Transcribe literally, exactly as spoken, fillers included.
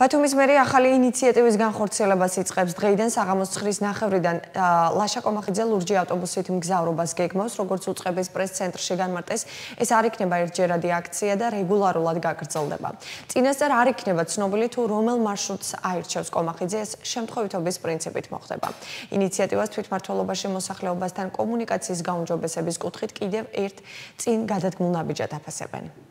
ბათუმის მერია ახალი ინიციატივის განხორციელებას იწყებს. დღეიდან საღამოს ცხრის ნახევრიდან ლაშა კომახიძე ლურჯი ავტობუსით მგზავრობას გეგმავს, როგორც უწყების პრეს-ცენტრში განმარტეს. ეს არ იქნება ერთჯერადი აქცია და რეგულარულად გაგრძელდება. წინასწარ არ იქნება ცნობილი თუ რომელ მარშრუტს აირჩევს კომახიძე, ეს შემთხვევითობის პრინციპით მოხდება. ინიციატივას თვითმმართველობაში მოსახლეობასთან კომუნიკაციის გაუმჯობესების კუთხით კიდევ ერთ წინ გადადგმულ ნაბიჯად აფასებენ.